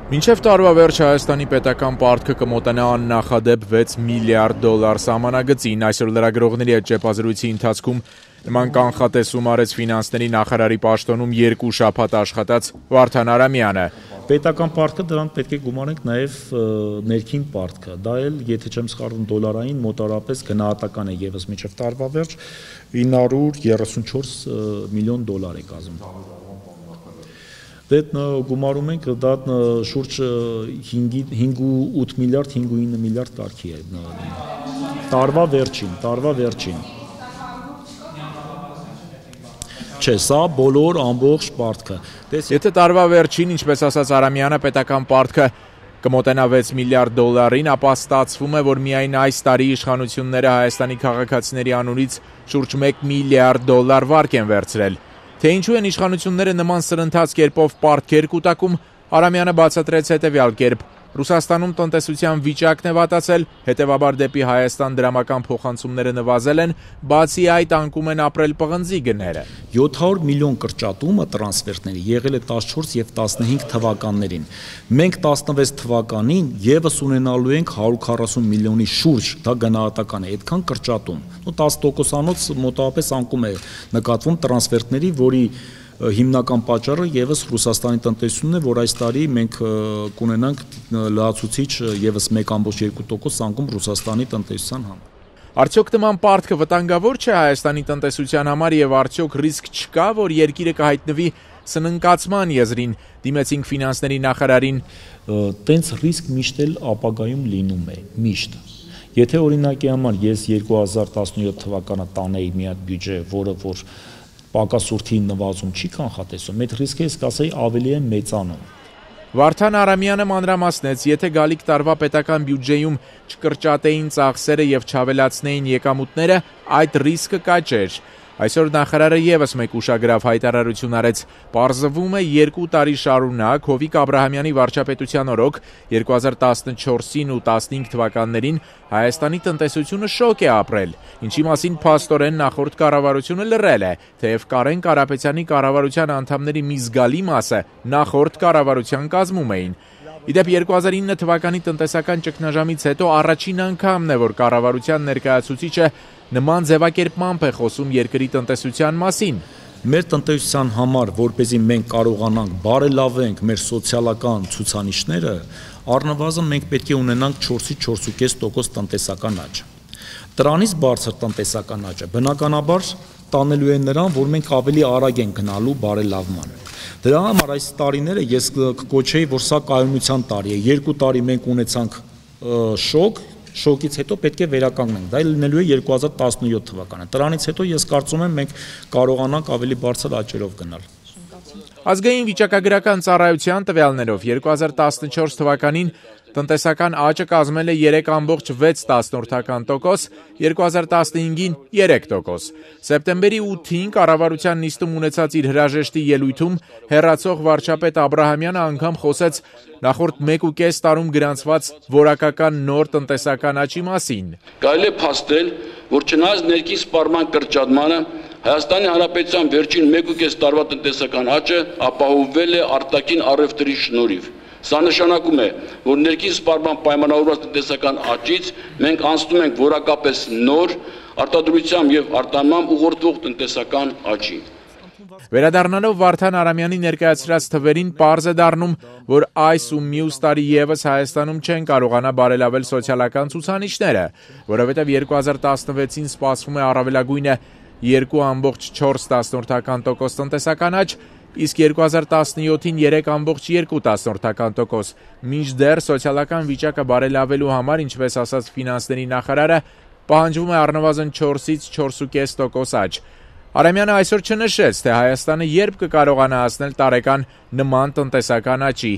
Մինչև տարվա վերջ Հայաստանի պետական պարտքը կմոտենա աննախադեպ 6 միլիարդ դոլար սահմանագծին։ Այսօր լրագրողների հետ ճեպազրույցի ընթացքում նման կանխատեսում արեց ֆինանսների նախարարի պաշտոնում 2 շաբաթ աշխատած Վարդան Արամյանը։ Պետական պարտքը դրան պետք է գումարենք նաև ներքին պարտքը, դա էլ, եթե չեմ սխալվում, դոլարային մոտարապես գնահատական է եւս մինչև տարվա վերջ 934 միլիոն դոլար է կազմում։ Դե գումարում ենք դա շուրջ 5.8 միլիարդ, 5.9 միլիարդ կարգի է տարվա վերջին։ Չէ, սա բոլոր ամբողջ պարտքը։ Եթե տարվա վերջին, ինչպես ասաց Արամյանը, պետական պարտքը կմոտենա 6 միլիարդ դոլարին, ապա ստացվում է, որ միայն այս տարի իշխանությունները Հայաստանի քաղաքացիների անունից շուրջ 1 միլիարդ դոլար վարկ են վերցրել։ Թե ինչու են իշխանությունները նման սրընթաց կերպով պարտքեր կուտակում, Արամյանը բացատրեց հետևյալ կերպ. Ռուսաստանում տնտեսության վիճակն է վատացել, հետևաբար դեպի Հայաստան դրամական փոխանցումները նվազել են, բացի այդ անկում են ապրել պղնձի գները։ 700 միլիոն կրճատումը տրանսֆերտների եղել է 14 եւ 15 թվականներին։ Մենք 16 թվականին եւս ունենալու ենք 140 միլիոնի շուրջ, դա գնահատական է, այդքան կրճատում։ 10%-անոց մոտավորապես անկում է նկատվում տրանսֆերտների, որի հիմնական պատճառը եւս Ռուսաստանի տնտեսությունն է, որ այս տարի մենք կունենանք լրացուցիչ եւս 1.2% անկում Ռուսաստանի տնտեսության համար։ Արդյոք նման պարտքը վտանգավոր չէ Հայաստանի տնտեսության համար եւ արդյոք ռիսկ չկա, որ երկիրը կհայտնվի սննկացման եզրին, դիմեցինք ֆինանսների նախարարին։ Տենց ռիսկ միշտ էլ ապագայում լինում է, միշտ։ Եթե օրինակի համար ես 2017 թվականը տանեի մի հատ բյուջե, որը որ պակասուրդի նվազում չի կանխատեսում, այդ ռիսկը ես կասեի ավելի է մեծանում։ Վարդան Արամյանը մանրամասնեց, եթե գալիք տարվա պետական բյուջեում չկրճատեին ծախսերը եւ չավելացնեին եկամուտները, այդ ռիսկը կաճեր։ Այսօր նախարարը եւս մեկ ուշագրավ հայտարարություն արեց. պարզվում է 2 տարի շարունակ Հովիկ Աբրահամյանի վարչապետության օրոք 2014-ին ու 15 թվականներին Հայաստանի տնտեսությունը շոկ է ապրել, ինչի մասին փաստորեն նախորդ կառավարությունը լռել է, թեև Կարեն Կարապետյանի կառավարության անդամների մի զգալի մասը նախորդ կառավարության կազմում էին։ Իդեպ 2009 թվականի տնտեսական ճգնաժամից հետո առաջին անգամն է, որ կառավարության ներկայացուցիչը նման ձևակերպմամբ է խոսում երկրի տնտեսության մասին։ Մեր տնտեսության համար, որպեսզի մենք կարողանանք բարելավենք մեր սոցիալական ցուցանիշները, առնվազն մենք պետք է ունենանք 4-ից 4.5% տնտեսական աճ։ Դրանից բարձր տնտեսական աճը բնականաբար տանելու է նրան, որ մենք ավելի արագ ենք գնալու բարելավման։ Դրա համար այս տարիները ես կկոչեի, որ սա կայունության տարի է։ 2 տարի մենք ունեցանք շոկից հետո պետք է վերականգնենք։ Դա լինելու է 2017 թվականը։ Դրանից հետո ես կարծում եմ մենք կարողանանք ավելի բարձր աճերով գնալ։ Ազգային վիճակագրական ծառայության տվյալներով 2014 թվականին տնտեսական աճը կազմել է 3.6%, 2015-ին 3%։ Սեպտեմբերի 8-ին կառավարության նիստում ունեցած իր հրաժեշտի ելույթում հեռացող վարչապետ Աբրահամյանը անգամ խոսեց նախորդ 1.5 տարում գրանցված որակական նոր տնտեսական աճի մասին։ Կարելի է փաստել, որ չնայած ներքին սպառման կրճատմանը Հայաստանի Հանրապետության վերջին 1.5 տարվա տնտեսական աճը ապահովվել է արտաքին առևտրի շնորհիվ։ Սա նշանակում է, որ ներքին սպառման պայմանավորված տնտեսական աճից մենք անցնում ենք որակապես նոր արտադրությամբ եւ արտահանմամբ ուղղորդվող տնտեսական աճի։ Վերադառնալով Վարդան Արամյանի ներկայացրած թվերին պարզ է դառնում, որ այս ու մյուս տարի եւս Հայաստանում չեն կարողանա բարելավել սոցիալական ցուցանիշները, որովհետեւ 2016-ին սպասվում է առավելագույնը 2.4% տնտեսական աճ, իսկ 2017-ին 3.2%, մինչդեռ սոցիալական վիճակը բարելավելու համար, ինչպես ասաց ֆինանսների նախարարը, պահանջվում է առնվազն 4-ից 4.5% աճ։ Արամյանը այսօր չնշեց, թե Հայաստանը երբ կկարողանա հասնել տարեկան նման տնտեսական աճի,